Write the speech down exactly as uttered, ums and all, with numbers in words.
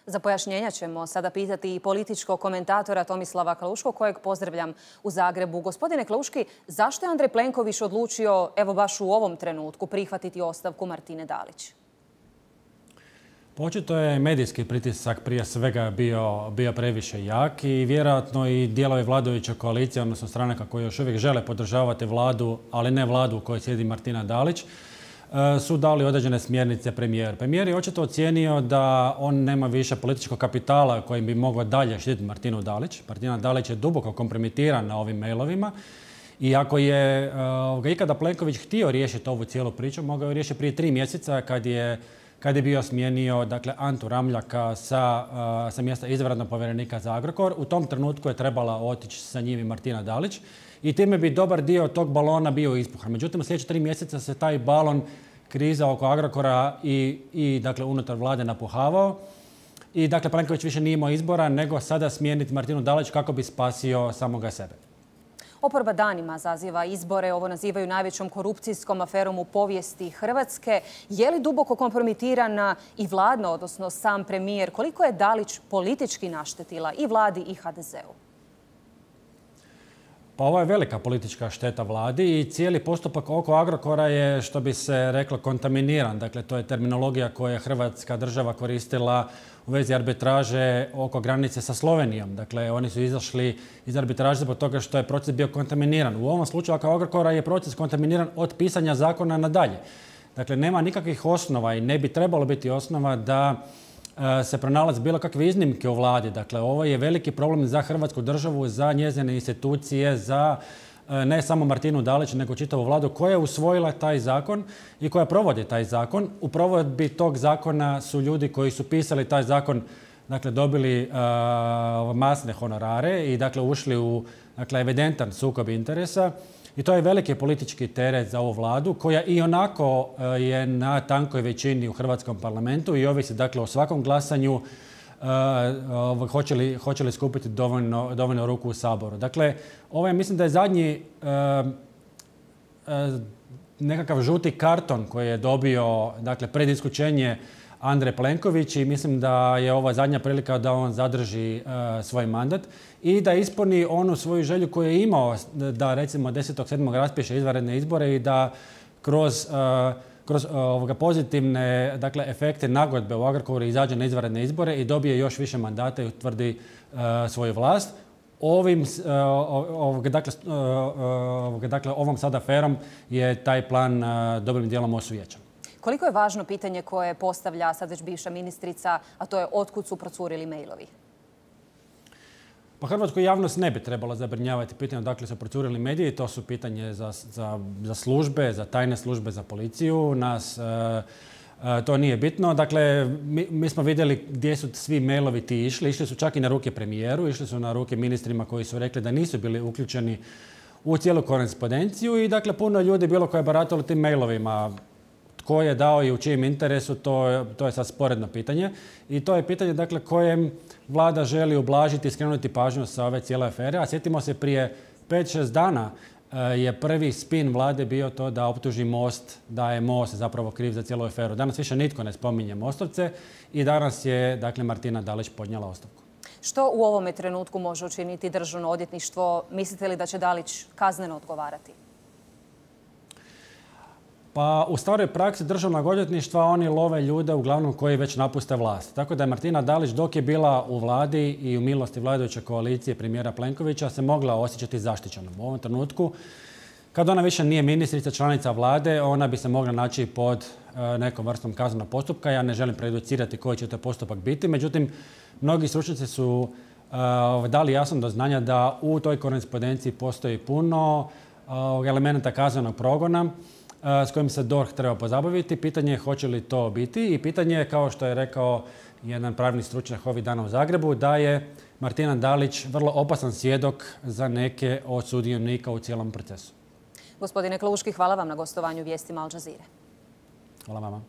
Za pojašnjenja ćemo sada pitati i političkog komentatora Tomislava Klauškog, kojeg pozdravljam u Zagrebu. Gospodine Klauški, zašto je Andrej Plenković odlučio, evo baš u ovom trenutku, prihvatiti ostavku Martine Dalić? Očito je medijski pritisak prije svega bio, bio previše jak i vjerojatno i dijelovi vladajuće koalicije, odnosno stranaka koji još uvijek žele podržavati vladu, ali ne vladu u kojoj sjedi Martina Dalić, su dali određene smjernice premijeru. Premijer je očito ocijenio da on nema više političkog kapitala kojim bi mogao dalje štititi Martinu Dalić. Martina Dalić je duboko kompromitiran na ovim mailovima i ako je uh, ikada Plenković htio riješiti ovu cijelu priču, mogao je riješiti prije tri mjeseca kad je kad je bio smijenio dakle, Antu Ramljaka sa, uh, sa mjesta izvanrednog povjerenika za Agrokor. U tom trenutku je trebala otići sa njim i Martina Dalić i time bi dobar dio tog balona bio ispuhan. Međutim, u sljedeće tri mjeseca se taj balon, kriza oko Agrokora i, i dakle, unutar vlade napuhavao. I dakle, Plenković više nije imao izbora nego sada smijeniti Martinu Dalić kako bi spasio samoga sebe. Oporba danima zaziva izbore, ovo nazivaju najvećom korupcijskom aferom u povijesti Hrvatske. Je li duboko kompromitirana i vladna, odnosno sam premijer? Koliko je Dalić politički naštetila i vladi i ha de zeu? Pa ovo je velika politička šteta vladi i cijeli postupak oko Agrokora je, što bi se reklo, kontaminiran. Dakle, to je terminologija koju je Hrvatska država koristila u vezi arbitraže oko granice sa Slovenijom. Dakle, oni su izašli iz arbitraže zbog toga što je proces bio kontaminiran. U ovom slučaju oko Agrokora je proces kontaminiran od pisanja zakona nadalje. Dakle, nema nikakvih osnova i ne bi trebalo biti osnova da se pronalazi bilo kakve iznimke u vladi. Dakle, ovo je veliki problem za Hrvatsku državu, za njezine institucije, za ne samo Martinu Dalić, nego čitavu vladu koja je usvojila taj zakon i koja provodi taj zakon. U provedbi tog zakona su ljudi koji su pisali taj zakon, dakle, dobili uh, masne honorare i dakle, ušli u dakle, evidentan sukob interesa. I to je veliki politički teret za ovu vladu koja i onako uh, je na tankoj većini u Hrvatskom parlamentu i ovisi dakle, o svakom glasanju uh, uh, hoće li, hoće li skupiti dovoljno, dovoljno ruku u Saboru. Dakle, ovo je, mislim da je zadnji uh, uh, nekakav žuti karton koji je dobio dakle, pred isključenje Andrej Plenković i mislim da je ova zadnja prilika da on zadrži uh, svoj mandat i da ispuni onu svoju želju koju je imao da recimo desetog sedmog raspiše izvanredne izbore i da kroz, uh, kroz uh, ovoga pozitivne dakle, efekte nagodbe u Agrokoru izađe na izvanredne izbore i dobije još više mandata i utvrdi uh, svoju vlast. Ovim, uh, ovoga, dakle, uh, ovoga, dakle, ovom sad aferom je taj plan uh, dobrim dijelom osujećan. Koliko je važno pitanje koje postavlja sad već bivša ministrica, a to je otkud su procurili mailovi? Pa hrvatsku javnost ne bi trebalo zabrinjavati pitanje odakle su procurili mediji. To su pitanje za, za, za službe, za tajne službe, za policiju. Nas e, e, to nije bitno. Dakle, mi, mi smo vidjeli gdje su svi mailovi ti išli. Išli su čak i na ruke premijeru, išli su na ruke ministrima koji su rekli da nisu bili uključeni u cijelu korespondenciju i dakle puno ljudi bilo koje je baratalo tim mailovima. Tko je dao i u čijem interesu, to, to je sad sporedno pitanje. I to je pitanje dakle, kojem vlada želi ublažiti i skrenuti pažnju sa ove cijele afere. A sjetimo se prije pet šest dana je prvi spin vlade bio to da optuži Most, da je Most zapravo kriv za cijelu aferu. Danas više nitko ne spominje Mostovce i danas je dakle, Martina Dalić podnijela ostavku. Što u ovome trenutku može učiniti Državno odvjetništvo? Mislite li da će Dalić kazneno odgovarati? Pa u staroj praksi Državnog odvjetništva oni love ljude uglavnom koji već napuste vlast. Tako da je Martina Dalić dok je bila u vladi i u milosti vladajuće koalicije premijera Plenkovića se mogla osjećati zaštićenom. U ovom trenutku, kad ona više nije ministrica, članica vlade, ona bi se mogla naći pod nekom vrstom kaznenog postupka. Ja ne želim prejudicirati koji će to postupak biti. Međutim, mnogi stručnjaci su uh, dali jasno do znanja da u toj korespondenciji postoji puno uh, elemenata kaznenog progona s kojim se D O R H treba pozabaviti. Pitanje je hoće li to biti i pitanje je, kao što je rekao jedan pravni stručnjak ovih dana u Zagrebu, da je Martina Dalić vrlo opasan svjedok za neke od sudionika u cijelom procesu. Gospodine Klauški, hvala vam na gostovanju Vijestima Al Jazeere. Hvala vama.